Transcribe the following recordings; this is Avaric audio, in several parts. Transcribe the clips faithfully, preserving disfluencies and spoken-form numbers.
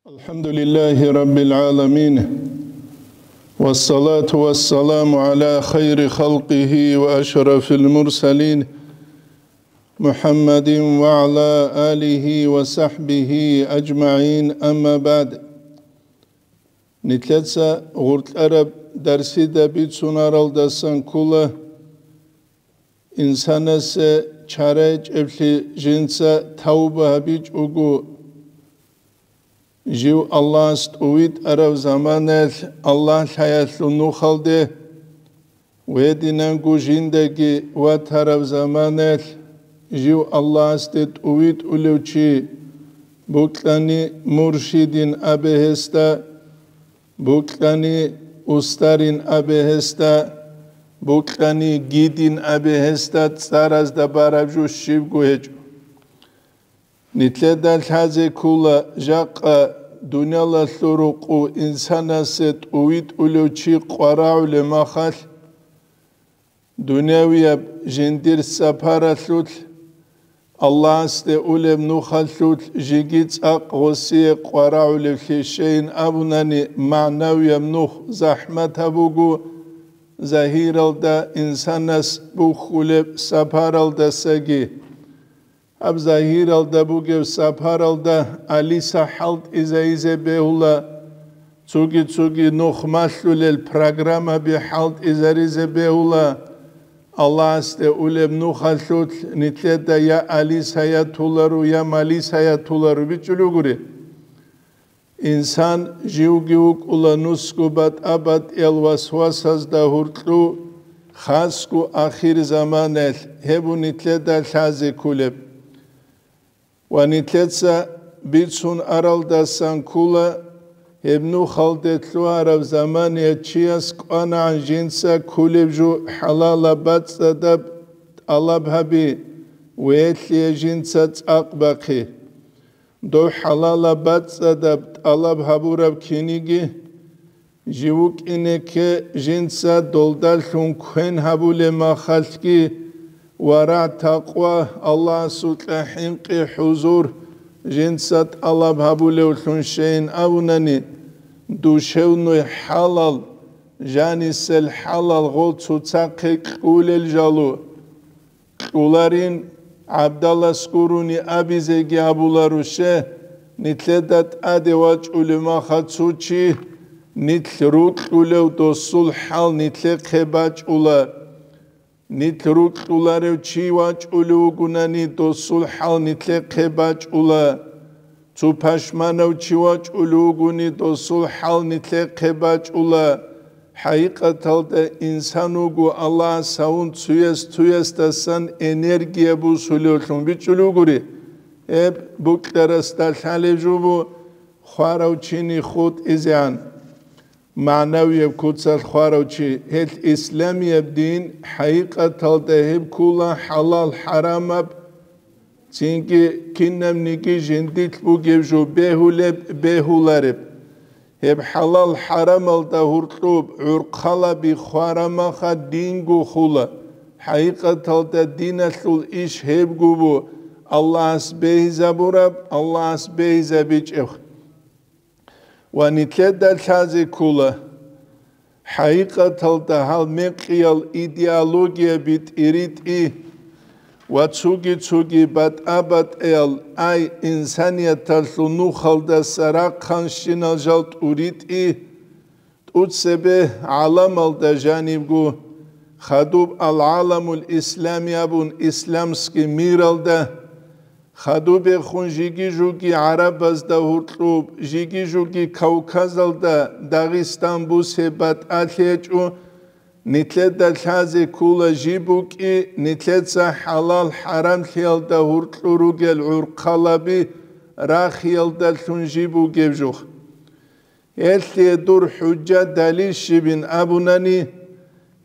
الحمد لله رب العالمين، والصلاة والسلام على خير خلقه وأشرف المرسلين، محمد وعلى آله وصحبه أجمعين، أما بعد. Нилъеца гъоркьараб дарсида бицунаралдасан ккола, инсанасе чарайчӀеблъи жинца тавба гьабичӀого, жив Аллагьас тӀувитӀараб заманаялъ Аллагь лъаялъул нухалде, гьединанго жиндаги ватараб заманаялъ жив Аллагьасде тӀувитӀулев чи, букьани муршидин абе гьесда, букьани устарин абе гьесда, букьани гидин абе гьесда цӀаразда бараб жо щибго гьечӀо. Нилъеда лъазе ккола жакъа дуниялалъул рукъу инсанасе тӀувитӀулев чи къварагӀулеб махалъ, дунявияб жиндир сапаралъулъ, Аллагьасде улеб нухалъулъ жеги цӀакъ гъосие къварагӀулевлъи щейин абунани, магӀнавияб нух захӀматаб буго, загьиралда инсанас бухьулеб сапаралдасаги. Гьаб загьиралда бугеб сапаралда алиса хӀалтӀизайизе бегьула, цоги-цоги нух малъулел программаби хӀалтӀизаризе бегьула, Аллагьасде улеб нухалъулъ нилъеда я алисаятуларо, я малисаятуларо бичӀчӀулев гури. Инсан живги вукӀула нусго батӀа-батӀиял васвасазда гьуркьу, хасго ахирзаманалъ гьеб нилъеда лъазе кколеб. Ва нилъеца бицун аралдасан ккола, гьеб нухалде лъугьараб замания чияс кӀванагӀан жинца кколеб жо хӀалалаб бацӀцӀадаб тӀалаб гьаби, вегьлъие жинца цӀакъ бахъи. Дов хӀалалаб бацӀцӀадаб тӀалаб гьабураб киниги, жив вукӀине кке жинца долдалъун квен гьабулеб махалъги, варагӀ-такъва, Аллагьасукьа хӀинкъи-хӀузур жинца тӀалаб гьабулевлъун щейин абунани, душевной хӀалал, жанисел хӀалал гъол цоцахъе кьулел жало. Кьуларин, гӀабдалас гурони абизеги абуларуше, нилъеда тӀаде вачӀулев махалъ цо чи, нилъ рукьулев досул хӀал нилъехъе бачӀула. Нилъ рукьуларев чи вачӀулев вугунани, досул хӀал нилъехъе бачӀула. Цо пашманав чи вачӀулев вугони, досул хӀал нилъехъе бачӀула. ХӀакъикъаталда инсан вуго Аллагьас гьавун цуяс-цуясдасан энергия бусулевлъун бичӀчӀулев гури. Гьеб букьарасда лъалеб жо бу хварав чини хутӀизегӀан. МагӀнавияб куцалъ хварав чи, гьелъ исламияб дин, хӀакъикъаталда гьеб ккола хӀалал-хӀарамаб, цинги кинабниги жиндилъ бугеб жо бегьулеб, бегьулареб. Гьеб хӀалал-хӀарамалда гьуркьуб гӀурхъалаби хварамаха динго хула. ХӀакъикъаталда диналъул иш гьебго бу, Аллагьас бегьизабураб, Аллагьас бегьизабичӀеб. Ва нилъеда лъазе ккола, хӀакъикъаталда гьал мекъиял идеологияби тӀиритӀи ва цоги-цоги батӀа-батӀиял ай инсанияталъул нухалдаса рахъанщинал жал тӀуритӀи, тӀуцебе гӀаламалда жанибго, хадуб ал-гӀаламул ислами абун исламский миралда, хадубехун жиги-жуги гӀарабазда гьуркьуб, жиги-жуги Кавказалда, Дагъистан бусе батӀалъи гьечӀо, нилъеда лъазе ккола жиб букӀи, нилъеца хӀалал-хӀарамлъиялда гьуркьу ругел гӀурхъалаби рахиялдалъун жиб бугеб жух. Гьелъие дур хӀужа-далил щибин абунани,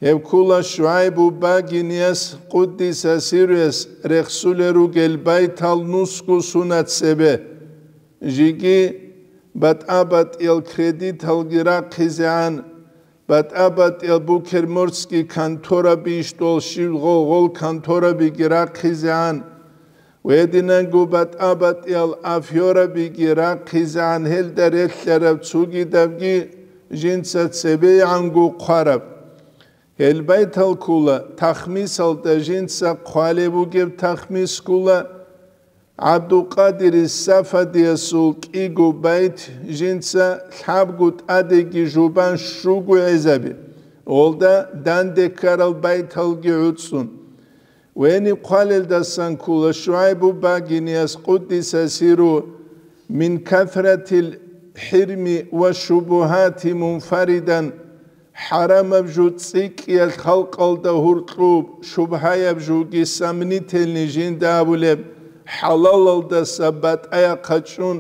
гьеб ккола ШугӀайбу багинияс, къуддиса сирруяс, рехсулел ругел байтал нусго сунат цебе. Жиги батӀа-батӀиял кредиталги рахъизегӀан, батӀа-батӀиял букерморский контораби ишдол щиб гъол-гъол конторабиги рахъизегӀан, Гьединанго батӀа-батӀиял афёрабиги рахъизегӀан гьелда релълъараб цогидабги жинца цебегӀанго хъвараб. Гьел байтал ккола, тахмисалда жинца хъвалеб бугеб тахмис ккола, ГӀабдулкъадир Сафадиясул кӀиго байт жинца лъабго тӀадеги жубан щуго гӀезаби, гъолда данде ккарал байталги гӀуцӀцӀун. Гьениб хъвалелдасан ккола ШугӀайбу Багинияс, къуддиса сиру, мин кафратил хӀирми ва шубугьати мунфаридан, хӀарамаб жо цӀикӀкӀиялъ халкъалда гьуркьуб, шубгьаяб жоги сомнительный жинда абулеб, хӀалалалдаса батӀаяхъа чӀун,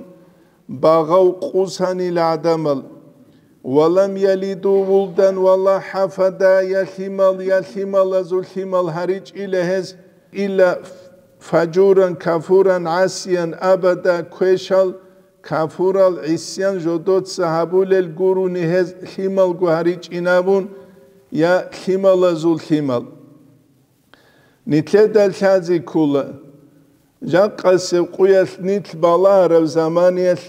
багъав къусанил гӀадамал. Ва лам ялиду вулдан ва ла хӀафада, я лъимал, я лъималазул лъимал гьаричӀила гьез, илла фажуран, кафуран, гӀасиян абада, квешал, кафурал, гӀисян жодоца гьабулел гурони гьез лъималго гьаричӀин абун, я лъималазул лъимал. Нилъеда лъазе ккола, жакъасеб къуялъ нилъ балагьараб заманиялъ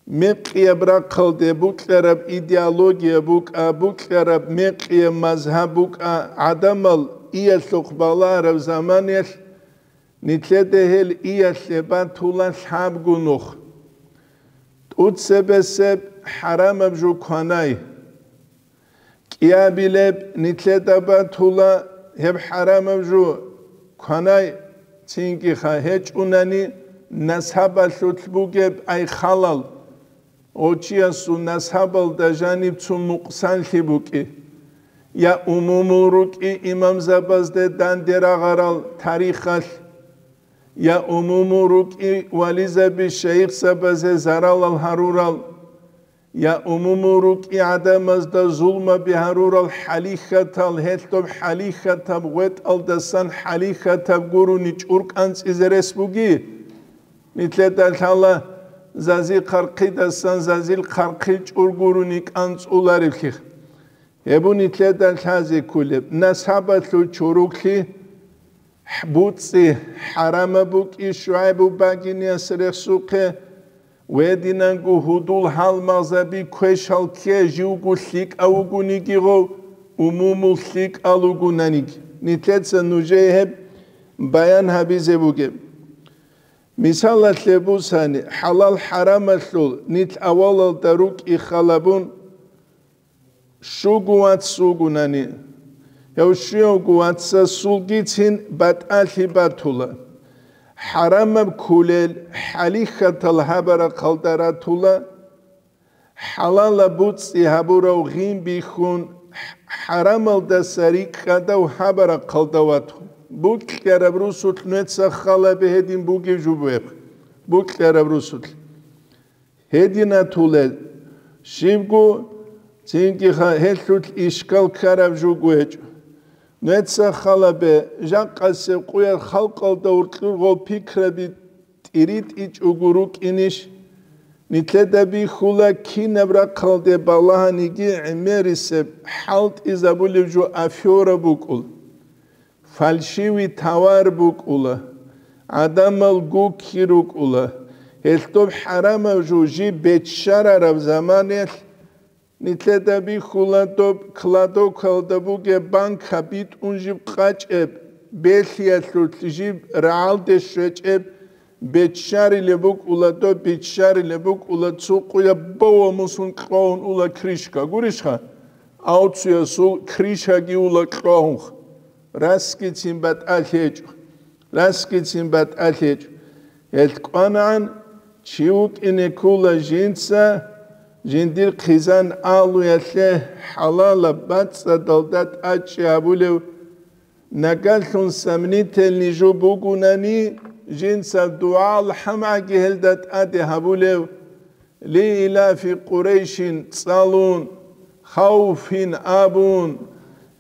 мекъияб рахъалде букьараб идеология букӀа, букьараб мекъияб мазгьаб букӀа, гӀадамал иялъухъ балагьараб заманиялъ нилъеда гьел иялъе батула лъабго нух. ТӀуцебесеб хӀарамаб жо кванай. КӀиабилеб нилъеда батула гьеб хӀарамаб жо кванай, цинги-ха гьечӀунани насабалъулъ бугеб ай халал, гъочиясул насабалда жаниб цо нукъсанлъи букӀи, я умумул рукӀи имамзабазде данде рагъарал тарихалъ, я умумул рукӀи вализаби шайихзабазе заралал гьарурал, я умумул рукӀи гӀадамазда зулмаби гьарурал хӀалихьатал, гьелъ доб хӀалихьатаб гъветӀалдасан хӀалихьатаб гурони чӀуркӀанцӀизе рес буги. Нилъеда лъала зазил хъархъидасан зазил хъархъил чӀур гурони кӀанцӀуларевлъи. Гьеб нилъеда лъазе кколеб насабалъул чороклъи, буцӀцӀи хӀарамаб букӀи ШугӀайбу Багинияс рехсухъе, гьединанго гьудул-гьалмагъзаби квешал кке, живго лъикӀав вугониги гъов, умумул лъикӀал вугонаниги. Нилъеца нужее гьеб баян гьабизе бугеб. Мисалалъе бусани, хӀалал-хӀарамалъул нилъ авалалда рукӀи халабун, щуго вац вугунани, гьев щуявго вацасулгицин батӀалъи батула. ХӀарамаб кколел хӀалихьатал гьабарахъалда ратула, хӀалалаб буцӀцӀи гьабурав гъин бихьун, хӀарамалдаса рикӀкӀадав гьабарахъалда ватун. Букьараб русулъ нуеца халабе гьедин бугев жубеб, букьараб русулъ. Гьединатулел щибго, цинги-ха гьелъулъ ишкал ккараб жуго гьечӀо. Нуеца халабе, жакъасеб къуял халкъалда уркьургъав пикраби тӀиритӀичӀого рукӀинищ? Нилъеда бихьула, кинаб рахъалде балагьаниги гӀемерисеб хӀалтӀизабулев жо афера букӀул. Фальшивый товар букӀула, гӀадамал гукки рукӀула. Гьелъ доб хӀарамаб жо жиб беччарараб заманаялъ, нилъеда бихьула доб кладовкалда бугеб банка битӀун жиб къачӀеб, белъиялъулъ жиб рагӀалде щвечӀеб, беччарилеб букӀула доб, биччарилеб букӀула цо къуяб бавамусун кьвагьун ула крышка. Гурищха? Авцуясул крышаги ула кьвагьунха. Расгицин батӀалъи гьечӀо, расгицин батӀалъи гьечӀо. Гьелъ кӀванагӀан чи вукӀине ккула жинца жиндир хъизан алуялъе хӀалалаб бацӀцӀадалда тӀачӀи гьабулев, нагалъун сомнительный жо бугунани, жинца дугӀа-алхӀамгӀаги гьелда тӀаде гьабулев, Лиилафи Къурайшин цӀалун, хавфин абун,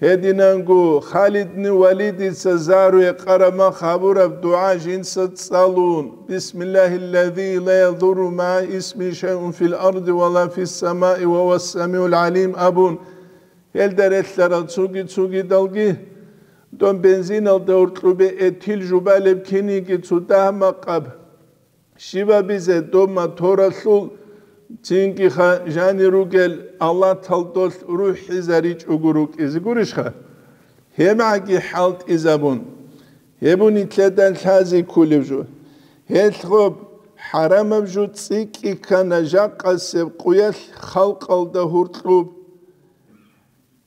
гьединанго Халидни Валидица загьру гьекъараб мах гьабураб дугӀа жинца цӀалун, Бисмиллагьиллази ла ядурру магӀа исмигьи шайъун фил арди ва ла фиссамаи ва гьувас самигӀул гӀалим абун, гьелда релълъарал цуги-цугидалги, Дон бензиналда гьоркьубе этил жубалеб киниги цо дагь-макъаб щибабизе доб моторалъул цинги ха-, жани ругел алатал долъ рухӀизаричӀого рукӀизе гурищха? ГьебгӀаги хӀалтӀизабун, гьеб нилъеда лъази кколеб жо. Гьелъ гъоб хӀарамаб жо цӀикӀкӀи ккана жакъасеб къуялъ халкъалда гьоркьуб.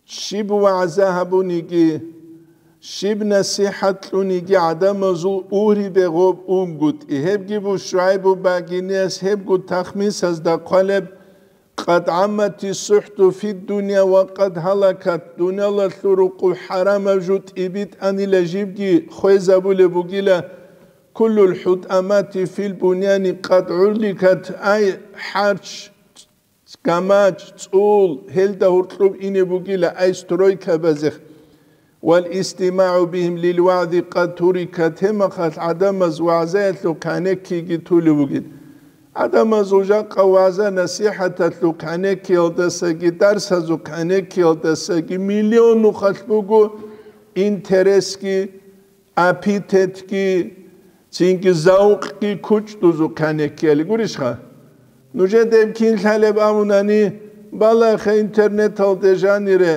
Щиб вагӀза гьабуниги, щиб насихӀат кьуниги гӀадамазул ургьибе гъоб унгутӀи. Гьебги бу ШугӀайбу багиниялъ гьебго тахмисазда хъвалеб: «Къад гӀаммати сухӀту фид дунья ва къад гьалакат», дуниялалъул рукъу хӀарамаб жо тӀибитӀанила жибги хвезабулеб бугила: «Куллул хӀутӀамати фил буньяни къад гӀулликат», ай хӀарч, гамач, цӀул, гьелда гьоркьуб ине бугила, ай стройкабазех. «Вал истимагӀу бихим лил вагӀзи къад турикат», гьемахалъ гӀадамаз вагӀзаялъул кӀанеккиги тулеб бугин. ГӀадамазул жакъа вагӀза-насихӀаталъул кӀанеккиялдасаги, дарсазул кӀанеккиялдасаги миллион нухалъ буго интересги, аппетитги, цинги завкъги кучӀдузухъ кӀанеккиялъ гурищха? Нужеда гьеб кин лъалеб абунани, балагьеха интернеталде жанире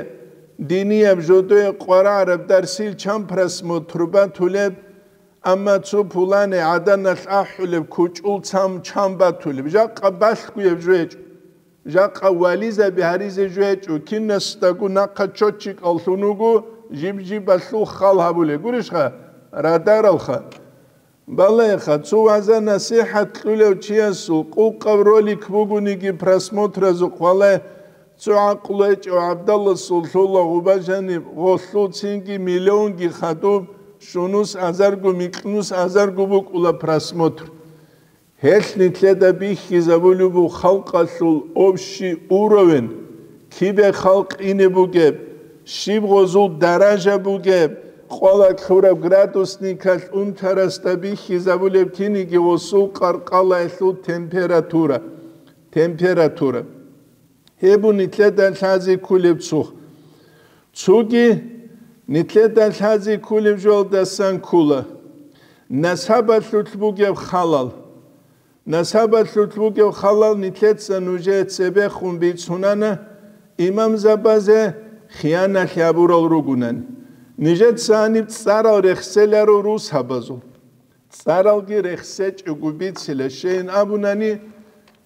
динияб жодое къварагӀараб дарсил чан просмотр батулеб, амма цо пулане гӀаданалъ ахӀулеб кучӀул цан чан батулеб, жакъа балъгояб жо гьечӀо. Жакъа вализаби гьаризе жо гьечӀо, кинасдаго нахъа чочикӀаллъун вуго, жиб-жибалъул хал гьабулеб гурищха, радаралха. Балагьеха, цо вагӀза-насихӀат кьулев чиясул къукъаб ролик бугониги просмотразухъ валагь, цо гӀакълу гьечӀев гӀабдалласул лъула гъуба жаниб гъолъул цинги миллионги хадуб, щунус азарго, микьнус азарго букӀула просмотр. Гьелъ нилъеда бихьизабулеб буго халкъалъул общий уровень, кибе халкъ ине бугеб, щиб гъозул даража бугеб, къвала кьураб градусникалъ унтарасда бихьизабулеб киниги гъосул къаркъалаялъул температура, температура. Гьеб бу нилъеда лъази кколеб цо. Цоги нилъеда лъази кколеб жоялдасан ккола. Насабалъулъ бугеб халал. Насабалъулъ бугеб халал нилъеца нужее цебехун бицунана, имамзабазе хияналъ гьабурал ругунани. Нижеца гьаниб цӀарал рехселаро русабазул. ЦӀаралги рехсечӀого бицила, щейин абунани,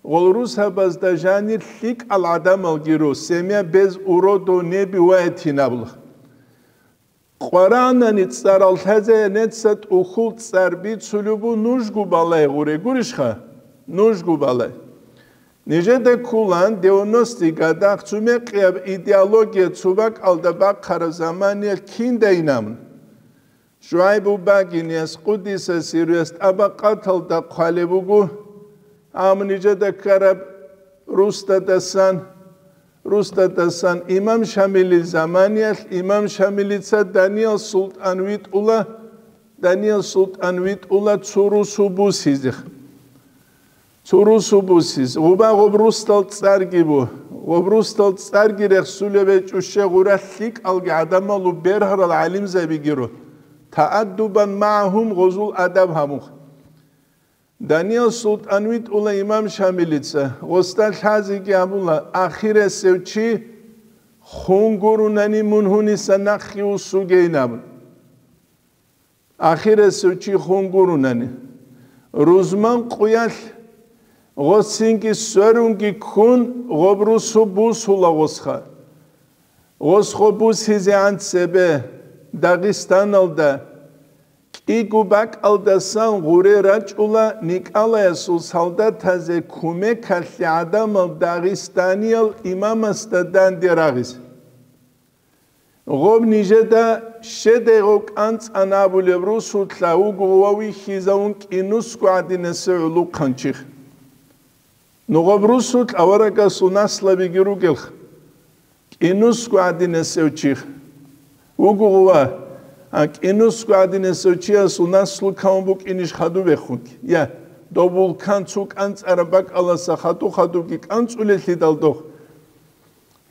гъол русабазда жанир лъикӀал гӀадамалги ру, семья без уродов не бывает гьин абула. Къваранани цӀарал лъазаянеца тӀухьул цӀар бицулеб бу нужго балай гъуре гурищха? Нужго балай. Нижеда ккулан девяностый годах цумекъияб идеология цо бакӀалда бахъараб заманиялъ киндайин абун. ШугӀайбу багиниялъ къуддиса сирругьу тӀабакъаталда хъвалеб буго, амма нижеда ккараб русдадасан, русдадасан имам Шамилил заманиялъ имам Шамилица Даниял султӀан витӀула, Даниял султӀан витӀула цо русу бусизе. Цо русу бусиз, гъуба гъоб русдал цӀарги бу. Гъоб русдал цӀарги рехсулеб гьечӀо, щай гъура лъикӀалги гӀадамалу бергьарал гӀалимзабигиро. Тааддубан магӀагьум, гъозул адаб гьабун. Даниял султӀан витӀула имам Шамилица, гъосда лъазеги абула, ахирасев чи хун гурунани мун гьуниса нахъе вуссугейин абун. Ахирасев чи хун гурунани, рузман къуялъ гъосинги сверунги ккун, гъоб русу бусула гъосха. Гъос гъо бусизегӀан цебе Дагъистаналда кӀиго бакӀалдасан гъуре рачӀула Николаясул солдатазе кумекалъе гӀадамал дагъистаниял имамасда данде рагъизе. Гъоб нижеда щедай гъо кӀанцӀан абулеб русулъа вуго ва вихьизавун кӀинусго гӀадинасев гӀулухъанчи. Ну гъоб русулъ аварагасул наслабиги ругелха. КӀинусго гӀадинасев чи вуго гъова, а кӀинусго гӀадинасев чиясул наслу кавун букӀинищ хадубехунги? Я, доб вулкан цо кӀанцӀараб бакӀаласа хадуб-хадубги кӀанцӀулелъидал дох.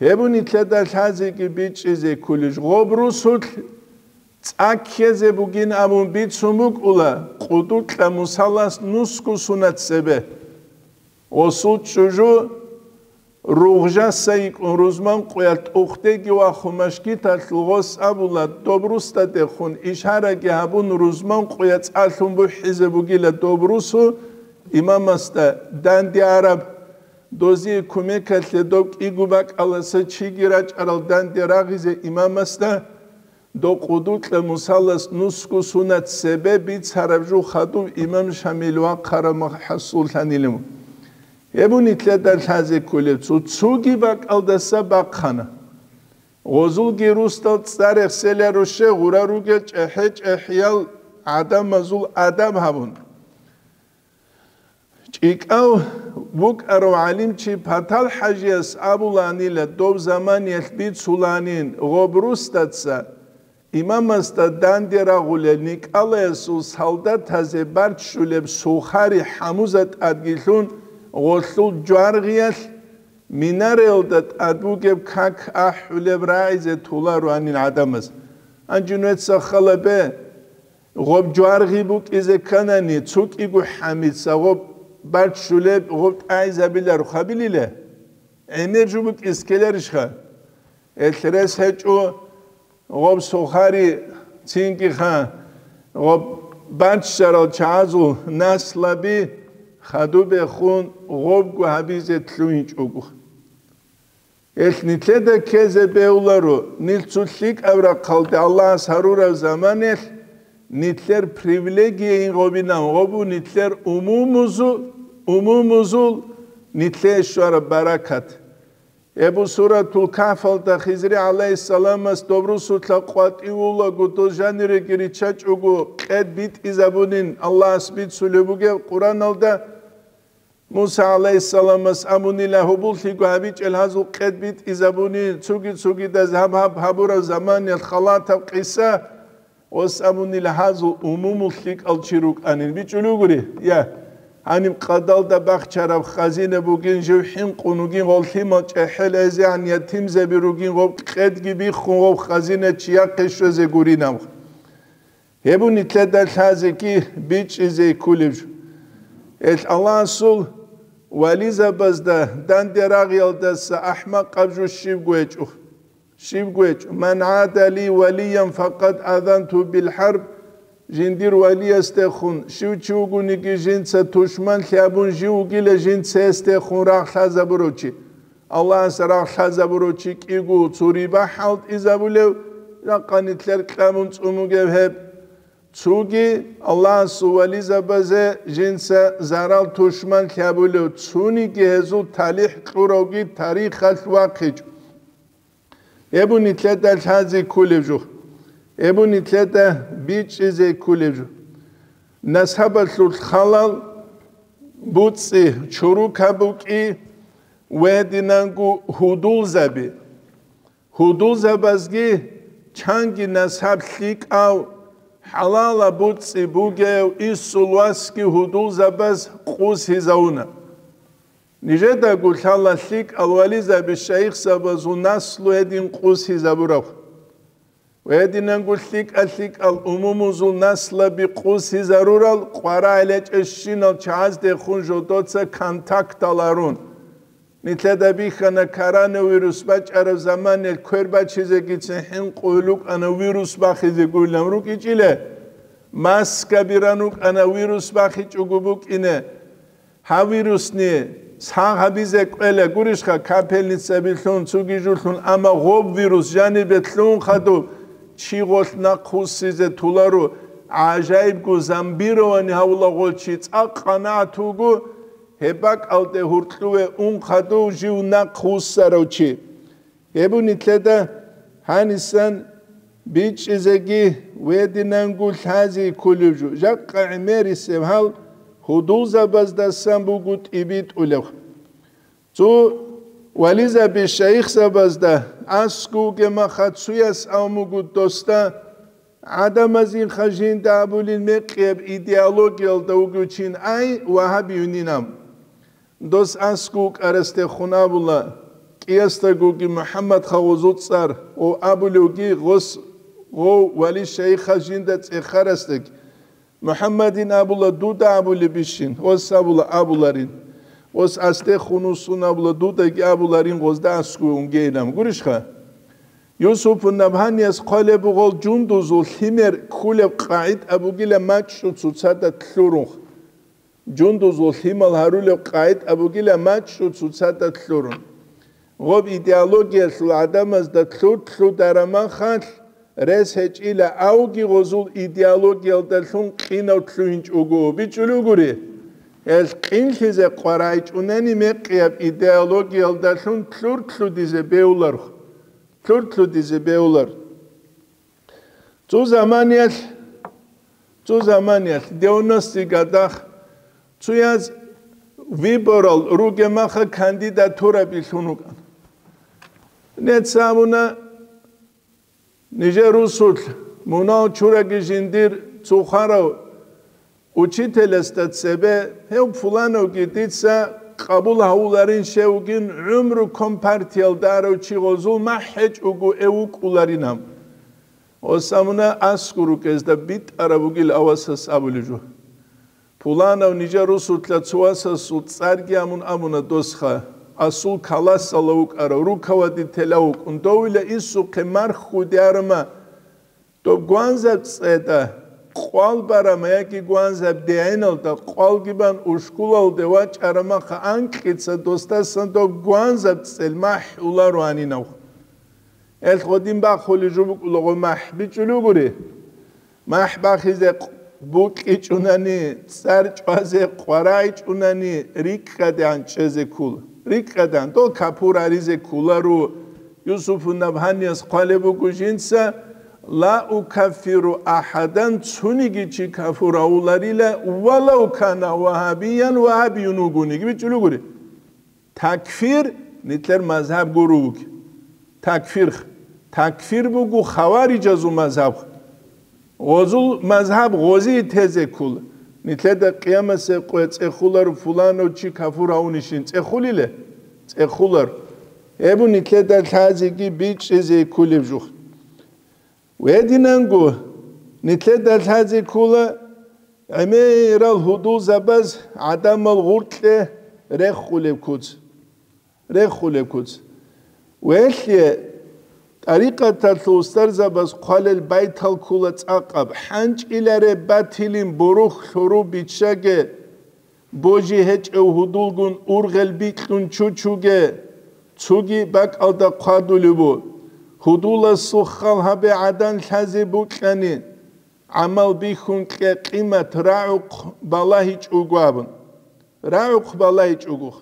Гьеб бу нилъеда лъазеги бичӀчӀизе кколищ, гъоб русулъ цӀа ккезе бугин абун бицун букӀула, къудукьа Мусалас нусго сунат цебе. Гъосул чӀужу ругъжаса йикӀун рузман къуялъ тӀухъдеги вахун машгиталъул гъос абула, доб русдадехун ишараги гьабун рузман къуя цӀалъун бухӀизе бугила доб русу имамасда данде араб, дозие кумекалъе доб кӀиго бакӀаласа чиги рачӀарал данде рагъизе имамасда, доб къудукьа Мусалас нусго сунат цебе бицараб жо хадув имам Шамил вахъараб махӀасуллъанилев. Гьеб нилъеда лъазе кколеб цо-, цоги бакӀалдаса бахъана. Гъозулги русдал цӀа рехсела руше гъура ругел чӀехӀе-чӀехӀиял гӀадамазул адаб гьабун. ЧӀикӀав вукӀарав гӀалимчи Патал-ХӀажияс абуланила, доб заманиялъ бицуланин гъоб русдаца имамасда данде рагъулел никӀалаясул солдатазе барччулеб сухари хӀамуза тӀадги лъун гъолъул жваргъиялъ минареялда тӀад бугеб как ахӀулеб рагӀизе толароанин гӀадамаз. Гьанже нужеца хала бе, гъоб жваргъи букӀизе кканани, цо кӀиго хӀамица гъоб барччулеб гъоб тӀагӀизабиларо хабилила? ГӀемер жо букӀизе ккеларищха? Гьелъ рес гьечӀо гъоб сухари цинги ха, гъоб баччарал чагӀазул наслаби хадубехун гъобго гьабизе лъугьинчӀого. Гьелъ нилъеда ккезе бегьуларо, нилъ цо лъикӀаб рахъалде Аллагьас гьарураб заманалъ нилъер привилегияйин гъобинан гъобу нилъер умумузу-, умумузул нилъее щвараб баракат. Гьеб Суратул Кагьфалда Хизри гӀалайгьиссаламас доб русулъа къватӀивулаго дол жаниреги риччачӀого къед битӀизабунин Аллагьас бицулеб бугеб Къуръаналда, Муса гӀалайгьиссаламас абунила гьоболлъиго гьабичӀел гьазул къед битӀизабунин, цоги-цогидаз гьаб-гьаб гьабураб заманиялъ халатаб къиса, Ос абунила гьазул умумул лъикӀал чи рукӀанин бичӀулев гури? Я, гьаниб къадалда бахчараб хазина бугин, жив хӀинкъун вугин, гъов лъимал чӀехӀел эзегӀан ятимзаби ругин, гъов къедги биххун, гъов хазина чияхъе щвезе гуринаб. Гьеб нилъеда лъазеги бичӀчӀизе кколеб жо. Гьелъ Аллагьасул вализабазда данде рагъиялдаса ахӀмакъаб жо щибго гьечӀо. Щибго гьечӀо: «Ман гӀада ли валиян факъад азанту бил хӀарб», жиндир валиясдехун щив чи вугониги жинца тушманлъи абун жив вугила жинца гьесдехун рагъ лъазабурав чи. Аллагьас рагъ лъазабурав чи кӀиго цо риба хӀалтӀизабулев, жакъа нилъер кьабун цӀун бугев гьеб. Цоги Аллагьасул вализабазе жинца зарал тушманлъи абулев, цониги гьезул талихӀ кьуравги тарихалъ вахъичӀо. Гьеб нилъеда лъазе кколеб жо. Гьеб нилъеда бичӀчӀизе кколеб жо. Насабалъул халал буцӀцӀи чурукаб букӀи ва гьединанго гьудулзаби. Гьудулзабазги чанги насаб лъикӀав, хӀалалаб буцӀцӀи бугев инсул васги гьудулзабаз къусизавуна. Нижедаго лъала лъикӀал вализаби шайихзабазул наслу гьедин къусизабураб. Ва гьединанго лъикӀа-лъикӀал умумузул наслаби къусизарурал къварагӀел гьечӀебщинал чагӀаздехун жодоца контактал арун. Нилъеда бихьана коронавирус бачӀараб заманалъ квер бачизегицин хӀинкъулел рукӀана вирус бахизе гуйилан рукӀичӀила. Маскаби ран рукӀана вирус бахичӀого букӀине. Гьав вирусни сагъ гьабизе кӀвела гурищха, капельницаби лъун, цоги жо лъун, амма гъоб вирус жанибе лъун хадуб чи гъолъ нахъвуссизе толаро, гӀажаибго зомбирование гьавула гъол чи цӀакъ къанагӀат вуго, гьеб бакӀалде гьуркьуве ун хадув жив нахъвуссарав чи. Гьеб нилъеда гьанисан бичӀчӀизеги ва гьединанго лъазе кколеб жо. Жакъа гӀемерисеб гьал гьудулзабаздасан буго тӀибитӀулеб. Цо вализаби шайихзабазда аскӀовге маха цуяс авмуго досда гӀадамазинха жинда абулин мекъияб идеологиялда вугев чин ай вагьабиюнинаб. Дос аскӀов вукӀарасдехун абула, кӀиясдагоги МухӀаммад хавузул цӀар, ва абулевги гъос Гъов вали шайихас жинда цӀехарасдаги: «МухӀаммадин абула, дуда абулебищин?» Ос абула: «Абуларин». Ос: «Астехун усун абула, дудаги абуларин, гъозда аскӀове унгейилан». Гурищха? Юсупун Набгьанияс хъвалеб бугъал жундузул лъимер ккулеб къагӀид абугила мачӀчӀу цоцазда лъурунха. Жундузул лъимал гьарулеб къагӀид абугила мачӀчӀу цоцазда лъурун. Гъоб идеологиялъул гӀадамазда лъур-лъударамахалъ рес гьечӀила, авги гъозул идеологиялдалъун къинав лъугьинчӀого бичӀчӀулугури. Гьел къинлъизе къварайчӀунани мекъияб идеологиялдалъун лъур-лъудизе беуларх, лъур-лъудизе беулар. Цо заманиялъ, цо заманиялъ, девяностый годах, цояз выборал ругемаха кандидатура билълъун вукӀана. Нецамуна нижер русулъ, мунал чураги жиндир цо хварав учителасда цебе: «Гьев пулановги дица къабул гьавуларин, щевгин гӀумру компартиялда арав чи гъозул махӀ гьечӀого эв вукӀуларинан». Гъосамуна аскӀор рукӀезда битӀараб бугил авасас абулеб жо. Пуланав нижер русулъа цо васасул цӀарги амун абуна досха, асул каласала вукӀарав, руководителя вукӀун, довила инсухъе марху диарма, доб гванзаб цӀеда къвал барама яги гванзаб дегӀиналда къвалги бан ушкулалде вачӀарамаха анкьица досдасан доб гванзаб цӀел махӀ уларо гьанинавха. Эл гъодин бахулеб жо букӀулаго махӀ бичӀчӀулугури. МахӀ бахизе къ-, букӀичӀунани, цӀар чӀвазе къварайчӀунани, рикӀкӀадегӀан чӀезе ккула. РикӀкӀадегӀан, дол капур гьаризе кколаро. Юсуфу Набгьанияс хъвалеб буго жинца: «Ла укаффиру ахадан», цониги чи капур гьавуларила, «валав кана вагьабиян», вагьабиюн вугониги, бичӀчӀулугури. Такфир, нилъер мазгьаб гуро вуги. Такфир, такфир буго хаварижазул мазгьаб. Гъозул мазгьаб гъозие тезе ккола. Нилъеда къиямасеб къоя цӀехулар пуланав чи кафур гьавунищин цӀехулиле? ЦӀехулар. Гьеб нилъеда лъазеги бичӀчӀизе кколеб жух. Гьединанго, нилъеда лъазе ккола гӀемерал гьудулзабаз гӀадамал гъуркье рехулеб куц. Рехулеб куц. Велъе, тӀарикъаталъул устарзабаз хъвалел байтал ккола цӀакъаб: «ХӀанчӀиларе батилин бурух лъуру биччаге, божи гьечӀев гьудулгун ургъел бикьун чучуге, цуги бакӀалда хъвадулеб бу. Гьудуласул хал гьабе гӀадан лъазе букьани, гӀамал бихьун кье къимат рагӀухъ балагьичӀого», – абун. РагӀухъ балагьичӀого.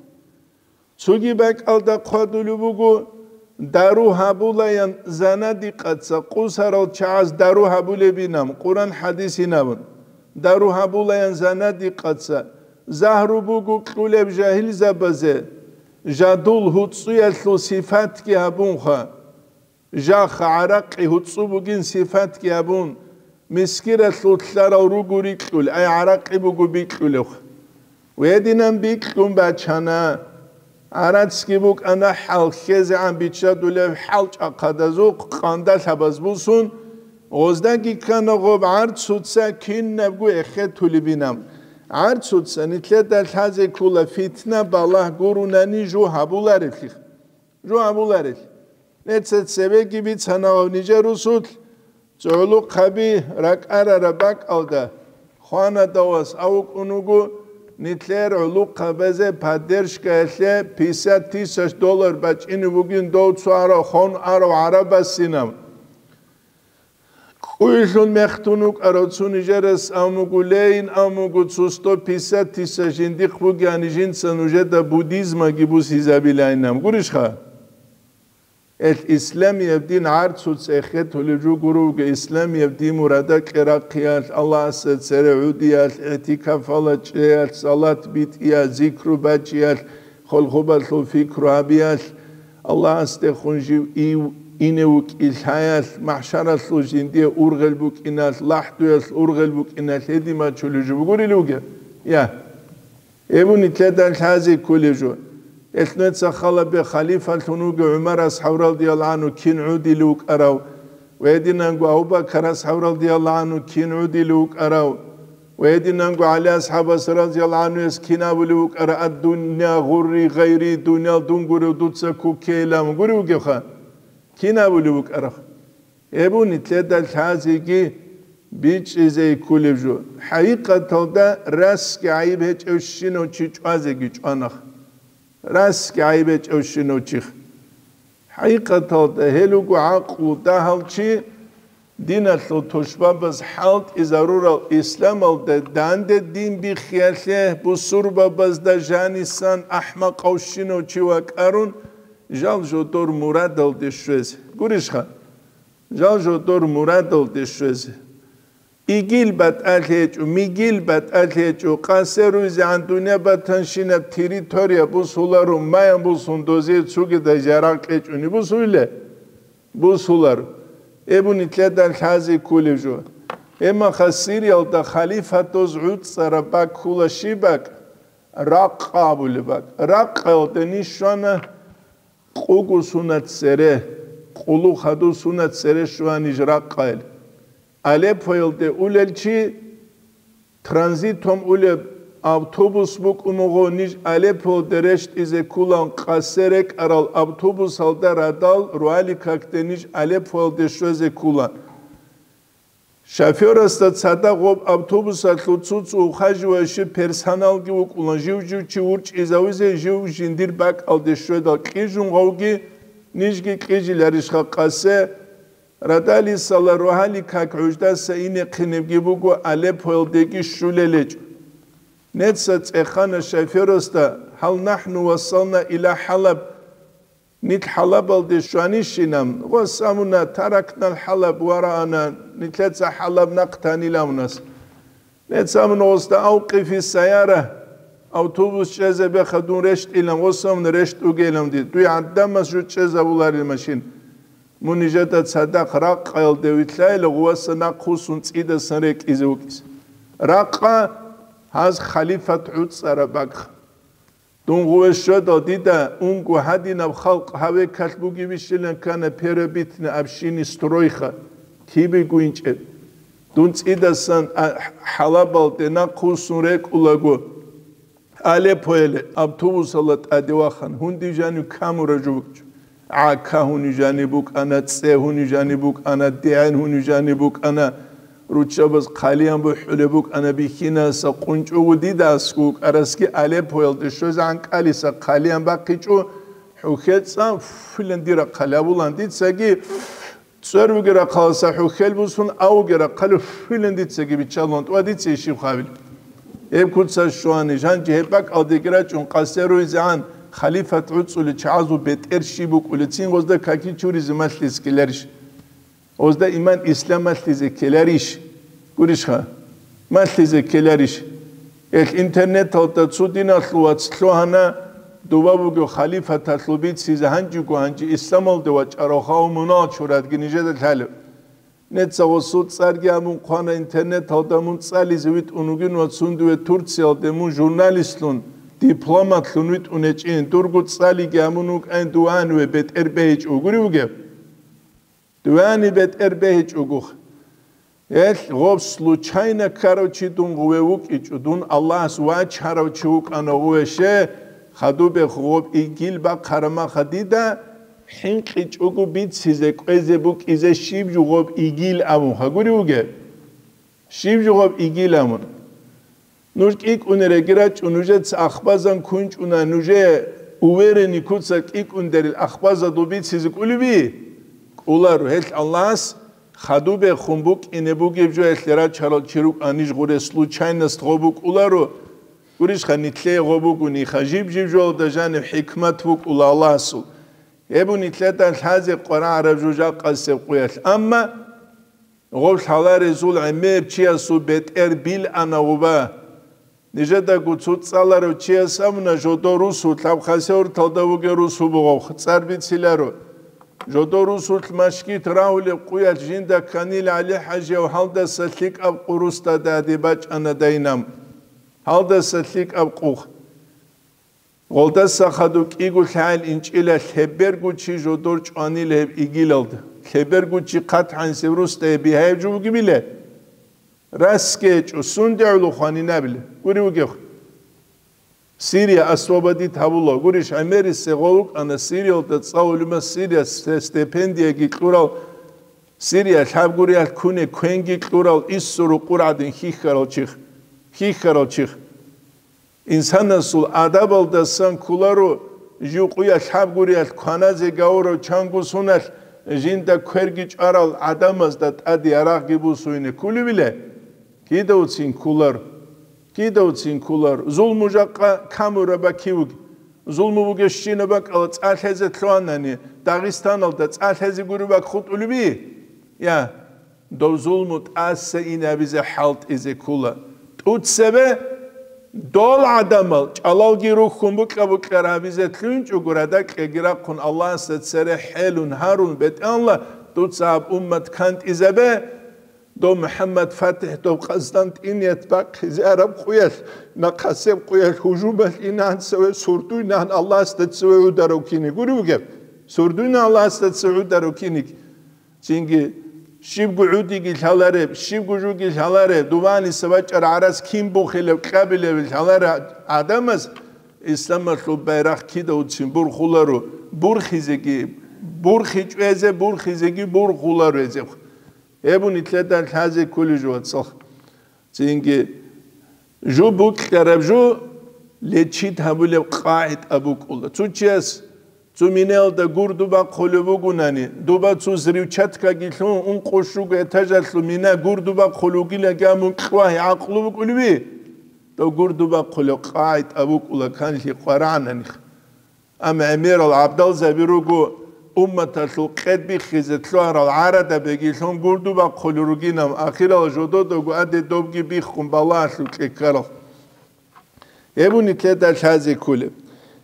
Цуги бакӀалда хъвадулеб буго: «Дару гьабулаян занадикъаца къусарал чагӀаз дару гьабулебинаб, Къуран-хӀадисинабун. Дару гьабулаян занадикъаца, загьру буго кьулеб жагьилзабазе, жадул гьуцӀуялъул сифатги гьабунха». Жаха, гӀаракъи гьуцӀу бугин сифатги гьабун, мискиралъул лъарал руго рикьул, ай гӀаракъи буго бикьулев. Гьединан бикьун бачана. ГӀарацги букӀана хӀал хьезегӀан биччадулев хӀалчӀахъадазухъ къандалъабаз бусун, гъоздаги ккана гъоб гӀарцуца кинабго эхетулебинаб. ГӀарцуца нилъеда лъазе ккола фитна балагь гурунани жо гьабуларевлъи. Жо гьабуларел. Нецер цебеги бицана гьав нижер русулъ, цо гӀулухъаби ракӀарараб бакӀалда, хванадавас авукӀун вуго, нилъер гӀулухъабазе поддержкаялъе пятьдесят тысяч доллар бачӀине бугин дов цо арав, хун арав гӀарабасинаб. КӀуйлъун мехтун вукӀарав цо нижерас амуго, лейин амуго, цо сто пятьдесят тысяч жиндихъ бугеани, жинца нужеда буддизмаги бусизабилайинаб. Гурищха? Эл исламияб дин гӀарцуца эхетулеб жо гуро вуго, исламияб дин мурада кьерахъиялъ, Аллагьасда цере гӀудиялъ, игӀтикафалда чӀеялъ, салат битӀиялъ, зикру бачӀиялъ, хъулухъубалъул пикру гьабиялъ, Аллагьасдехун жив ив ине вукӀин лъаялъ, махӀшаралъул жиндие ургъел букӀиналъ, лахӀдуялъ ургъел букӀиналъ гьедин бачулеб жо бугурил вугеб? Я. Гьеб нилъеда лъазе кколеб жо. Эл нуца халабе халифалъун вугев ГӀумар асхӀаб радияллагьу гӀангьу кин гӀудилев вукӀарав, Ва гьединанго Абу-Бакар асхӀаб радияллагьу гӀанхӀу кин гӀодилев вукӀарав, ва гьединанго ГӀали асхӀабас радияллагьу гӀанхӀуяс кин абулев вукӀарав: «Ад-дунья гъурри гъайри», дуниял дун гурев, дуца кукейилан гурев вугевха? Кин абулев вукӀарав? Гьеб нилъеда лъазеги бичӀчӀизе кколеб жо. ХӀакъикъаталда расги гӀайиб гьечӀевщинав чи чӀвазеги чӀванах. Расги гӀайиб гьечӀевщинав чих. ХӀакъикъаталда гьел руго гӀакълу дагьал чи, диналъул тушбабаз хӀалтӀизарурал исламалда данде дин биххиялъе бусурбабазда жанисан ахӀмакъавщинав чи вакӀарун, жал жодор мурадалде щвезе. Гурищха? Жал жодор мурадалде щвезе. Игил батӀалъи гьечӀо, мигил батӀалъи гьечӀо, къасе руйзегӀан дунъя батанщинаб территория бусуларо, маян бусун дозие цугидай ярагъ кьечӀони бусуле? Бусуларо. Эбу нилъеда лъази кколеб жо. Гьебмаха Сириялда халифатаз гӀуцӀараб бакӀ ккола, щиб бакӀ? Ракъа абулеб бакӀ. Ракъаялда ниж щвана, къугу сунат цере, къулу хадув сунат цере щвана ниж Ракъаялде. Алеппоялде улел чи, транзитом улеб автобус букӀун буго, ниж Алеппоялде рещтӀизе кколан, къасе рекӀарал автобусалда радал Руаликакде ниж Алеппоялде щвезе кколан. Шофёрасда цадахъ гъоб автобусалъул цо-цо ухаживающий персоналги вукӀуна, жив-жив чи урчӀизавизе, жив жиндир бакӀалде щведал кьижун гъавги, нижги кьижиларищха къасе? Радалисала Руаликак гӀуждаса инехъинебги буго, Алеппоялдеги щулел гьечӀо. Нецца цӀехана шофёрасда: «Гьал нахӀну вассална иля ХӀалаб?» Нилъ ХӀалабалде щванищинан, гъос абуна: «Таракнал ХӀалаб вараана», нилъеца ХӀалаб нахъ танила абунас. Нецц абуна гъосда: «Авкъифи сайяра», автобус чӀезе беха, дун рещтӀилан, гъос абуна: «РещтӀугейилан дие, дуе гӀадамас жо чӀезабуларел машин». Мун нижеда цадахъ Ракъаялде вилълъайила, гъуваса нахъвуссун цӀидасан рекӀизе вукӀизе. Ракъа гьаз халифат гӀуцӀараб бакӀ. Дун гъуве щведал, дида унго гьадинаб халкъ гьавекалъ бугебищилан ккана первобытный общины стройха, кибего инчӀеб. Дун цӀидасан а-, ХӀалабалде нахъвуссун рекӀулаго, Алеппоялде автобусалда тӀаде вахана, гьундив жанив камураб жо букӀчӀо. ГӀака гьунив жанив букӀана, цӀе гьунив жанив букӀана, дегӀен гьунив жанив букӀана, руччабаз хъалиян бухӀулеб букӀана, бихьинаса къунчӀого дида аскӀов вукӀарасги Алеппоялде щвезегӀан кӀалиса хъалиян бахъичӀо, хӀухьеца филан дира хъалабулан дицаги, цӀер вугера хъаласа хӀухьел бусун, а вугера хъалу филан дицаги биччалун, тӀва дица ишив хавил. Гьеб куца щвани, жанчи гьеб бакӀалдеги рачӀун къасе руйзегӀан, халифат гӀуцӀули чагӀазул бетӀер щиб букӀули, цин гъозда каки чуризе малъизе ккеларищ? Гъозда иман ислам малъизе ккеларищ? Гурищха? Малъизе ккеларищ? Эл интернеталда цо диналъул вац лъугьана, дова буго халифаталъул бицизе, гьанжего гьанже исламалде вачӀарав хавмунал чурадги нижеда лъалеб. Нецаго суд цӀарги абун хъвана интернеталда, мун цӀализе витӀун вугин ва цундуве Турциялде мун журналистлъун, дипломатлъун витӀун гьечӀин, дурго цӀалиги абун вукӀайн, дуваниве бетӀер бегьичӀо гури вугев? Дувани бетӀер бегьичӀогох. Гьелъ гъоб случайно ккарав чи дун гъуве вукӀичӀо, дун Аллагьас вачарав чи вукӀана гъуве, ще, хадубе гъоб игил бахъарамаха дида, хӀинкъичӀого бицизе кӀвезе букӀизе щиб жо гъоб игил абун гьагури вугеб? Щиб жо гъоб игил абун? Нуж кӀикӀунереги рачӀун, нужеца ахбазан кунчӀуна, нужее уверенный куца кӀикӀундерил ахбазадул бицизе кӀулеби? КӀуларо, гьелъ Аллагьас хадубехун букӀине бугеб жо гьелъ рачарал чи рукӀа ниж гъуре случайность гъо букӀуларо, гурищха, нилъее гъо бугониха, жиб-жиб жоялда жаниб хӀикмат букӀула Аллагьасул. Гьеб нилъеда лъазе къварагӀараб жо жакъасеб къуялъ. Амма гъоб лъаларезул гӀемер чиясул бетӀер билана гъуба. Нижедаго цо цӀаларав чияс абуна, жодо русулъ, аб Хасавюрталда вугев русу бугъав, цӀар бициларо. Жодо русулъ машгит рагьулеб къуялъ жинда кканила ГӀали-хӀажияв гьалдаса лъикӀаб къу русда даде бачӀана дайнам. Гьалдаса лъикӀаб къух. Гъолдаса хадуб кӀиго лъагӀел инчӀила лъеберго чи жодор чӀванила гьеб игилалда. Лъеберго чи хъат гьанисеб русдае бигьаяб жо бугебила? Расги гьечӀо, сунде гӀоло хванинабила. Гури вугев. Сирия освободить гьабула. Гурищ, гӀемерисеб гъов вукӀана Сириялда цӀа гӀолумас Сирия сте-, стипендияги кьурал, Сирия лъабгуриялъ ккуне квенги кьурал, иссу рукъур гӀадин хьихьарал чих. Хьихьарал чих. Инсанасул адабалдасан кколаро, жив къуялъ лъабгуриялъ кваназе гавурав чанго суналъ жинда кверги чӀварал гӀадамазда тӀаде ярагъги бусуйне кколевила? Кидавцин кколар, кидавцин кколар. Зулму жакъа камураб бакивуги. Зулму бугебщинаб бакӀала цӀа лъезе лъугьанани, Дагъистаналда цӀа лъезе гури бакӀ хутӀулеби? Я. Дов зулму тӀаса инабизе хӀалтӀизе ккола. ТӀуцебе дол гӀадамал чӀалалги рухьун букьа-букьа гьабизе лъугьинчӀого, радакьаги рахъун Аллагьасда цере хӀелун гьарун, БетӀералла, дуца гьаб уммат кантӀизабе, дов МухӀаммад ФатихӀ, дов Къастантиният бахъизе араб къуялъ, нахъасеб къуялъ гьужумалъ инан цеве сурдуйнан Аллагьасда цеве гӀударав киник гури вугев? Сурдуйнан Аллагьасда цеве гӀударав киник? Цинги, щибго гӀудиги лъалареб, щибго жуги лъалареб, дубаниса бачӀараб гӀарац кин бухилеб, кьабилеб лъалареб гӀадамаз исламалъул байрахъ кидавцин бурхуларо, бурхизеги, бурхи чӀвезе, бурхизеги бурхуларо гьезехъ. Гьеб нилъеда лъазе кколеб жо, вацал. Цинги, жо букьараб жо лечит гьабулеб къагӀида букӀула. Цо чияс цо минаялда гурду бахъулеб бугунани, дуба цо взрывчаткаги лъун, ункъо-щуго этажалъул мина гурду бахъулеб бугилаги, амун кьвагьи гӀакълу букӀулеби? Дов гурду бахъулеб къагӀида букӀула канлъи къварагӀананихъ. Амма гӀемерал гӀабдалзаби руго, умматалъул къед биххизе лъугьарал гӀарадабиги лъун гурду бахъулел ругинал, ахирал жододаго аде добги биххун балагьалъукье ккарал. Гьеб нилъеда лъазе кколеб.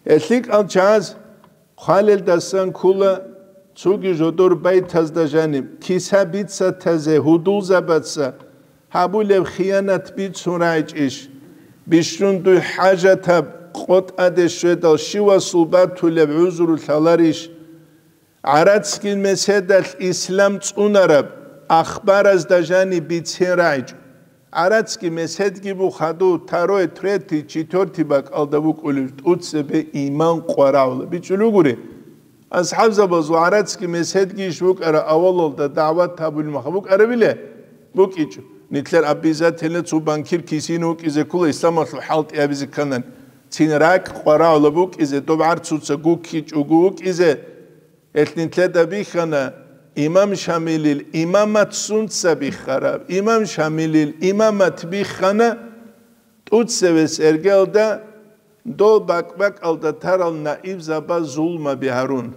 Гьел лъикӀал чагӀаз хъвалелдасан ккола цоги жодор байтазда жаниб, киса-бицатазе, гьудулзабаца гьабулеб хиянат бицун рагӀичӀищ? Бищун дуй хӀажатаб къо тӀаде щведал щивасул батулеб гӀузру лъаларищ? ГӀарацги меседалъ ислам цӀунараб ахбаразда жаниб бицен рагӀичӀо. ГӀарацги меседги бухаду, второй, третий, четвертый бакӀалда букӀулел тӀуцебе иман къварагӀула. БичӀчӀулугури. АсхӀабзабазул гӀарацги меседги иш букӀара авалалда дагӀват гьабулеб маха букӀарабила? БукӀичӀо. Нилъер обязательно цо банкир кисине вукӀизе ккола исламалъул хӀалтӀи абизе кканани. Цин ракӀ къварагӀула букӀизе, доб гӀарцуца гуккичӀого вукӀизе. Гьелъ нилъеда бихьана имам Шамилил имамат сунца биххараб, имам Шамилил имамат биххана тӀуцевес эргалда, дол бакӀ-бакӀалда тарал наибзабаз зулмаби гьарун,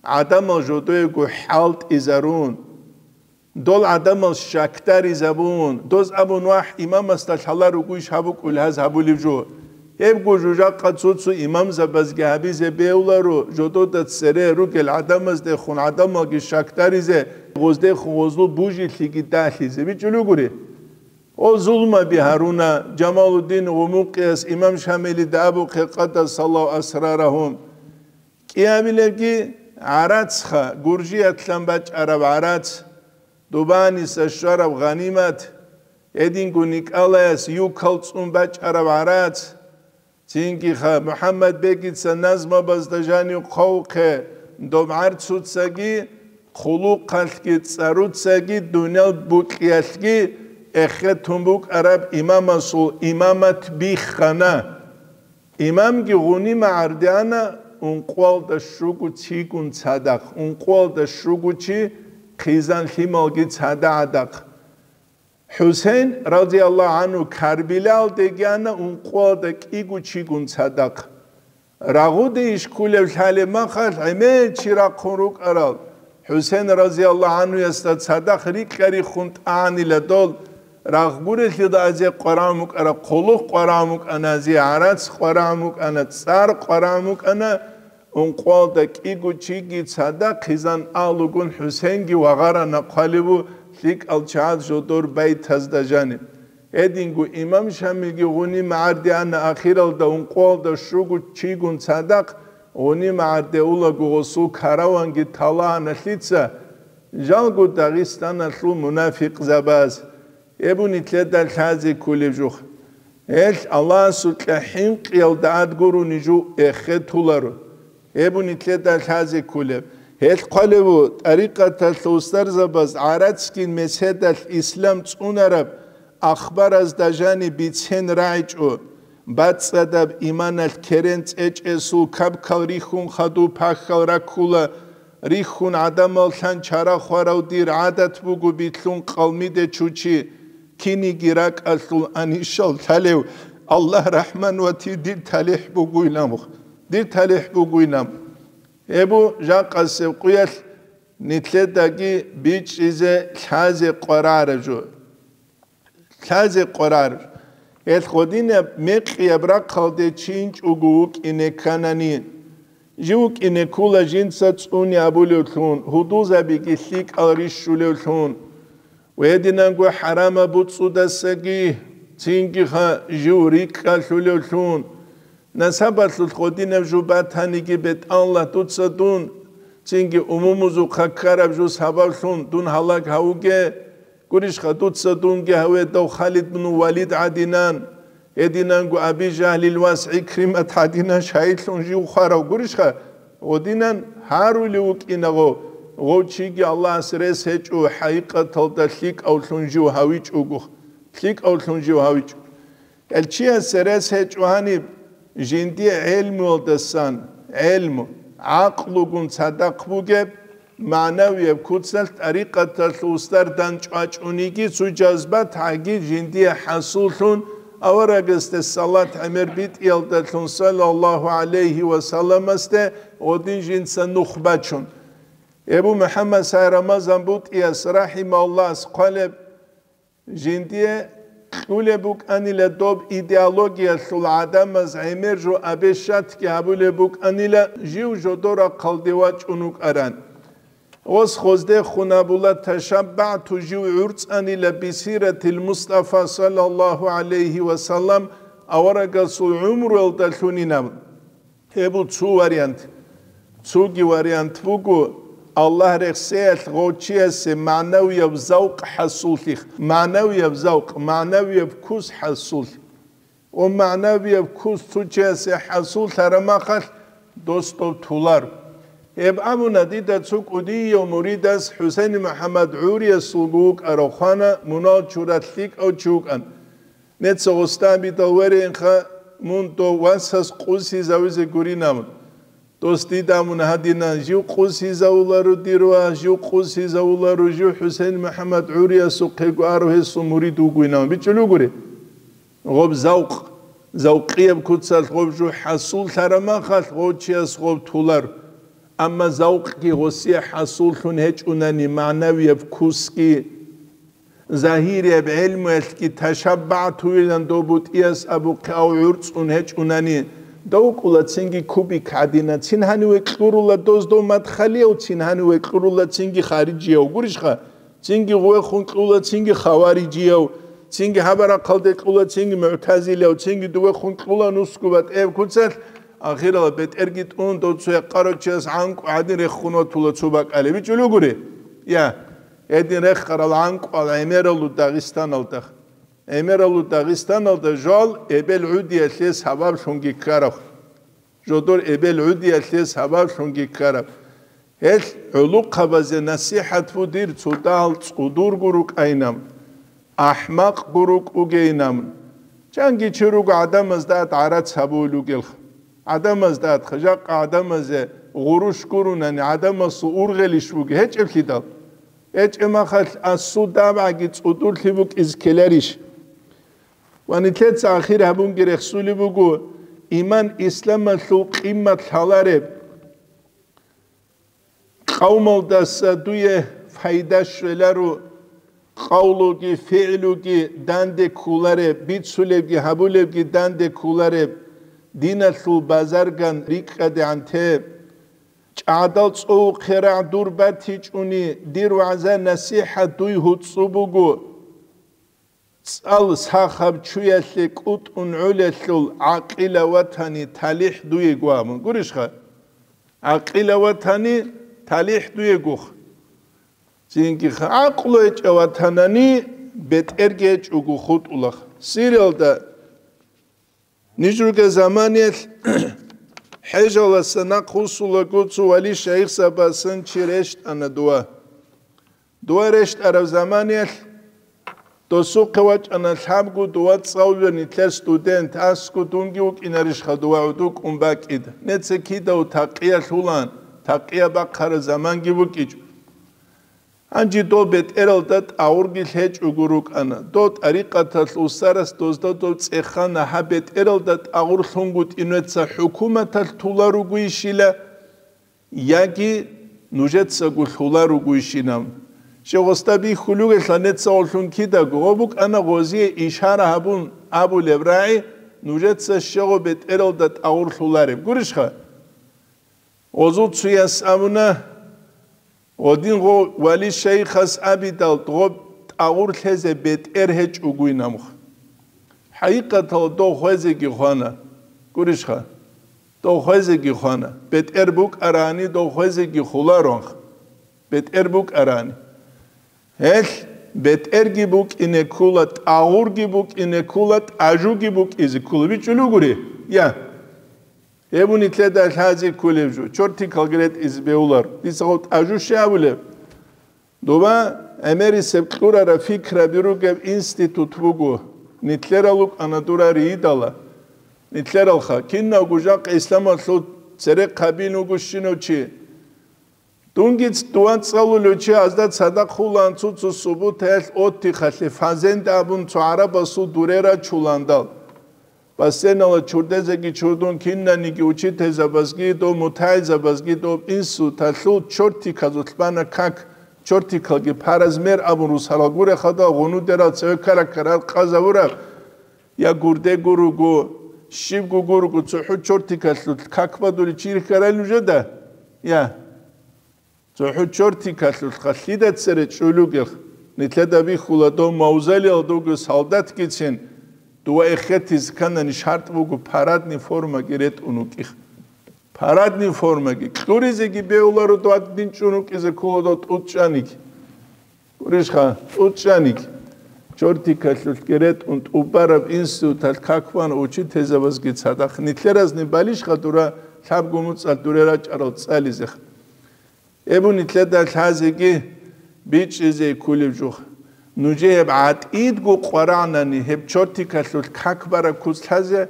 гӀадамал жодоего хӀалтӀизарун, дол гӀадамал щакдаризабун, доз абун: «Вагь, имамасда лъала ругойищ гьабукӀул гьаз гьабулев жо?» Гьебго жужахъа цо-цо имамзабазги гьабизе бегьуларо, жодода цере ругел гӀадамаздехун гӀадамалги щакдаризе, гъоздехун гъозлу бужилъиги далъизе. БичӀчӀулугури. О, зулмаби гьаруна, Жамалуддин Гъумукъияс имам Шамилида абухъе, къаддасаллагьу асрарагьум. КӀиабилебги гӀарацха, гуржиятлъан бачӀараб гӀарац, дубаниса щвараб гъанимат, гьединго Николаяс юкал цӀун бачӀараб гӀарац, цинги-ха МухӀаммад бегица назмабазда жанив хъавухъе, доб гӀарцуцаги, хъулухъалъги, цӀаруцаги, дуниял букьиялъги эхетун букӀараб имамасул имамат биххана. Имамги гъунима гӀардеана ункъуялда щуго чигун цадахъ, ункъуялда щуго чи, хъизан лъималги цадахъ. ХӀусейн, радияллагьу гӀангьу, Карбилалде гьана ункъуялда кӀиго чигун цадахъ. Рагъуде иш кколев лъалеб махалъ гӀемер чи рахъун рукӀарал, ХӀусейн, радияллагьу гӀангьуясда цадахъ рикьа-риххун тӀагӀанила дол, рагъ гурелъидал азе къварагӀун букӀара, хъулухъ къварагӀун букӀана азе, гӀарац къварагӀун букӀана, цӀар къварагӀун букӀана, ункъуялда кӀиго чиги цадахъ хъизан алугун ХӀусейнги вагъарана хъвалебу лъикӀал чагӀаз жодор байтазда жаниб. Гьединго имам Шамилги гъуниб магӀарде ана, ахиралда ункъоялда щуго чигун цадахъ гъуниб магӀарде улаго гъосул караванги талаана лъица, жалго Дагъистаналъул мунафикъзабаз. Гьеб нилъеда лъазе кколеб жо. Гьел Аллагьасукьа хӀинкъиялда ад гурони жо эхетуларо. Гьеб нилъеда лъазе кколеб. Гьел хъвалев ву, тӀарикъаталъул устарзабаз гӀарацгин меседалъ ислам цӀунараб ахбаразда жаниб бицен рагӀичӀо, бацӀцӀадаб иманалъ керен цӀечӀесул кабкал рихьун хадуб пахьал раккула, рихьун гӀадамал лъан чара хварав дир гӀадат буго билълъун къалмиде чучи, киниги ракӀалъул анищал лъалев Аллагь рахӀман вати дир талихӀ бугуйнамух, дир талихӀ бугуйнам. Гьеб бу жакъасеб къуялъ нилъедаги бичӀчӀизе лъазе къварараб жо. Лъазе къварараб. Гьел гъодинаб мекъияб рахъалде чи инчӀого вукӀине кканани, жив вукӀине ккула жинца цӀуни абулевлъун, гьудулзабиги лъикӀал рищулевлъун, ва гьединанго хӀарамаб буцӀцӀудасаги цинги ха жив рикӀкӀалъулевлъун, насабалъулъ гъодинаб жо батаниги, БетӀаллагь, дуца дун цинги умумузухъа ккараб жо сабаблъун дун гьалаг гьавуге, гурищха, дуца дунги гьаведав Халид бну Валид гӀадинан, гьединанго Аби Жагьлил вас ГӀикримат гӀадинан шагьидлъун жив хварав гурищха, гъодинан гьарулев вукӀина гъов, гъов чиги Аллагьас рес гьечӀо, хӀакъикъаталда лъикӀавлъун жив гьавичӀого, лъикӀавлъун жив гьавичӀо. Гьел чиясе рес гьечӀо гьаниб жиндие гӀелмуялдасан, гӀелму, гӀакълугун цадахъ бугеб, магӀнавияб куцалъ тӀарикъаталъул устар данчӀвачӀуниги, цо жазбат гьаги жиндие хӀасуллъун, аварагасде салат гӀемер битӀиялдалъун саллаллагьу гӀалайгьи ва салламасде гъодин жинца нух бачун. Эбу МухӀаммад Сай Рамазан БутӀияс, рахӀимагьуллагь, хъвалеб, жиндие кьулеб букӀанила доб идеологиялъул гӀадамаз гӀемер жо абешатги гьабулеб букӀанила, жив жодор рахъалде вачӀун вукӀаран. Гъос хоздехун абула, ташаббагӀту, жив гӀурцӀанила бисиратил Мустафа саллаллагьу гӀалайгьи ва саллам аварагасул гӀумруялдалъунин абун. Гьеб бу цо вариант. Цоги вариант буго, Аллагь рехсеялъ гъов чиясе магӀнавияб завкъ хӀасуллъих, магӀнавияб завкъ, магӀнавияб вкус хӀасуллъ. Ва магӀнавияб вкус цо чиясе хӀасуллъараб махалъ дос дов тулар. Гьеб абуна дида цо кӀудияв муридас, ХӀусейн МухӀаммад ГӀуриясулго вукӀарав, хвана, мунал чуралъ лъикӀав чи вукӀан. Неца гъосда абидал вереинха, мун дов васас къусизавизе гуринабун. Дос дида мун гьадинан, жив къусизавуларо дир вас, жив къусизавуларо, жив ХӀусейн МухӀаммад ГӀуриясухъего аро гьесул мурид вугуйнавун. БичӀчӀулев гури? Гъоб завкъ, завкъияб куцалъ гъоб жо хӀасуллъараб махалъ гъов чияс гъоб тулар. Амма завкъги гъосие хӀасуллъун гьечӀунани, магӀнавияб вкусги, загьирияб гӀелмуялъги ташаббагӀтуилан дов бутӀияс абухъе ав гӀурцӀун гьечӀунани, дов кӀула цинги кубик гӀадина, цин гьаниве кьурула доз дов мадхалияв, цин гьаниве кьурула цинги хариджияв, гурищха? Цинги гъувехун кьула цинги хаварижияв, цинги гьабарахъалде кьула цинги мугӀтазилияв, цинги дувехун кьула нусгу батӀияб куцалъ, ахирала бетӀерги тӀун, дов цо якъарав чияс гӀанкӀу гӀадин рехун ватула цо бакӀалеб. БичӀчӀулев гури? Я. Гьедин рехарал гӀанкӀуал гӀемералу Дагъистаналда. ГӀемералу Дагъистаналда жал эбел гӀудиялъе сабаблъунги ккараб. Жодор эбел гӀудиялъе сабаблъунги ккараб. Гьел гӀулухъабазе насихӀат бу дир цо дагьал цӀудурго рукӀайнам, ахӀмакъго рукӀугейнам. Чанги чи руго гӀадамазда ат гӀарац гьабулел ругелха. ГӀадамазда ат, жакъа гӀадамазе гъурущ гурунани, гӀадамасул ургъелищ буги гьечӀеблъидал? ГьечӀеб махалъ асул дабгӀаги цӀудурлъи букӀиз ккеларищ? Ва нилъеца ахир гьабунги рехсулеб буго, иман исламалъул къиммат лъалареб, къавмалдаса дуе пайда щвеларо, къавлуги, фигӀлуги данде кколареб, бицулебги гьабулебги данде кколареб, диналъул базарган рикӀкӀадегӀан те. ЧӀагӀдал цӀувухъе рагӀ дур батичӀуни, дир вагӀза-насихӀат дуй гьуцӀцӀу буго. цӀал сахаб чуялъе кӀутӀун гӀолелъул гӀакъила ватани талихӀ дуего абун. Гурищха? ГӀакъила ватани талихӀ дуегох. Цинги гӀакълу гьечӀев ватанани бетӀерги гьечӀого хутӀулах. Сириялда ниж ругел заманиялъ хӀежаласа нахъ вуссулаго цо вали шайихзабасан чи рещтӀана дова. Дова рещтӀараб заманиялъ досухъе вачӀана лъабго дова цӀалулел нилъер студент, асго дунги вукӀинарищха дова гӀодов кӀун бакӀид. Неца кидав такъиялъулан, такъия бахъараб заманги букӀичӀо. Гьанже дов бетӀералда тӀагъурги лъечӀого рукӀана. Дов тӀарикъаталъ устарас дозда дов цӀехана, гьаб бетӀералда тӀагъур лъунгутӀин веца хӀукуматалъ тула ругойищила, яги нужецаго лъула ругойищинав. Щегъосда бихьулугелъа нецаголлъун кидаго, гъо букӀана гъозие ишара гьабун абулеб рагӀи, нужеца щегъо бетӀералда тӀагъур лъулареб. Гурищха? Гъозул цуяс абуна, гъодин гъо вали шайихас абидал, гъоб тӀагъур лъезе бетӀер гьечӀогуйнамха. ХӀакъикъаталда дов хвезеги хвана. Гурищха? Дов хвезеги хвана. БетӀер букӀарани дов хвезеги хуларонха. БетӀер букӀарани. Гьелъ бетӀерги букӀине ккула, тӀагъурги букӀине ккула, тӀажуги букӀизе ккула. БичӀчӀулугури? Я. Гьеб нилъеда лъазе кколеб жо, чортикалги ретӀизе бегьулар. Дица гъов тӀажу щай абулеб? Доба гӀемерисеб кьурараб фикраби ругеб институт буго. Нилъерал рукӀана дура ридала. Нилъералха, кинавго жакъа исламалъул церехъабин вуго щинав чи. Дунги ц-, дова цӀалулев чи азда цадахъ хулаан цо-цо субутаялъ оттихалъе фазенда абун цо гӀарабасул дуре рачуландал. Бассейнала чурдезеги чурдун кинаниги учительзабазги дов мутагӀилзабазги дов институталъул чортиказулъ бана как, чортикалги по размер абун русарал гурехъадал гъунудерал цеве ккара-ккарал къазабураб, я гурдего руго, щибго гурого цохӀо чортикалъулъ как бадулев чи рихьарай нужеда? Я. ЦохӀо чортикалъулъха лъида цере чӀулугелъ, нилъеда бихьула дов мавзолеялда вуго солдатгицин, дова эхетизе кканани шартӀ буго парадный формаги ретӀун вукӀих. Парадный формаги, кьуризеги бегьуларо дов дин чӀун вукӀизе ккола дов тӀуцӀчӀаниги. Гурищха, тӀуцӀчӀаниги. Чортикалъулъги ретӀун тӀубараб институталъ как бана учительзабазги цадахъ. Нилъеразни балищха дура лъабго муцӀалъ дуре рачӀарал цӀализеха. Гьеб нилъеда лъазеги бичӀчӀизе кколеб жо. Нужее гьеб гӀатӀидго къварагӀнани, гьеб чортикалъулъ как бараб куц лъазе,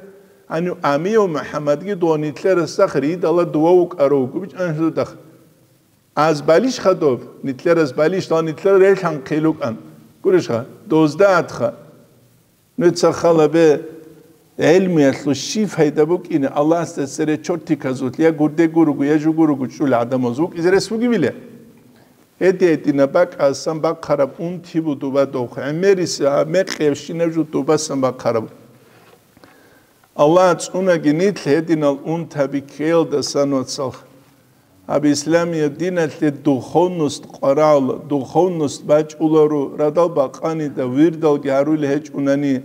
гьанив Амияв МухӀаммадги дов нилъерасдахъ ридала дова вукӀарав вуго, бичӀчӀана гьезудахъ. Аз балищха доб, нилъерас балищ, дов нилъер релъанхъе лукӀан. Гурищха, дозда атха. Нуца халабе гӀелмуялъул щиб пайда букӀине, Аллагьасда цере чортиказулъ я гурде гуруго, я жугуруго чӀул гӀадамаз вукӀизе рес бугебила? Гьедин-гьединаб бакӀасан бахъараб унти буго дова дов, гӀемерис гьаб мекъиябщинаб жо довасан бахъараб. Аллагь цӀунаги нилъ гьединал унтаби ккеялдасан, вацал. Гьаб исламияб диналъе духовность къварал, духовность бачӀуларо, радал бакъанида вирдалги гьарулел гьечӀунани,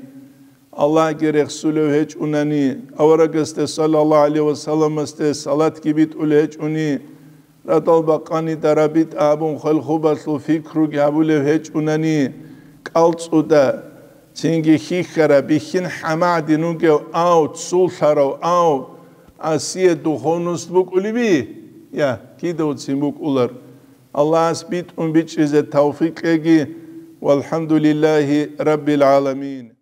Аллагьги рехсулев гьечӀунани, аварагасде саллаллагьу гӀалайгьи ва салламасде салатги битӀулел гьечӀуни, радал бакъанида рабитӀа абун хвалхубалъул фикруги гьабулев гьечӀунани, кӀалцӀуда, цинги хьихьараб, бихьин хӀамадин вугев ав, цулъарав ав, Асие духовность букӀулеби? Я, кидавцин букӀулар. Аллагьас битӀун бичӀчӀизе тавфикъ кьеги. ВалхӀамдулиллагьи раббил гӀаламин.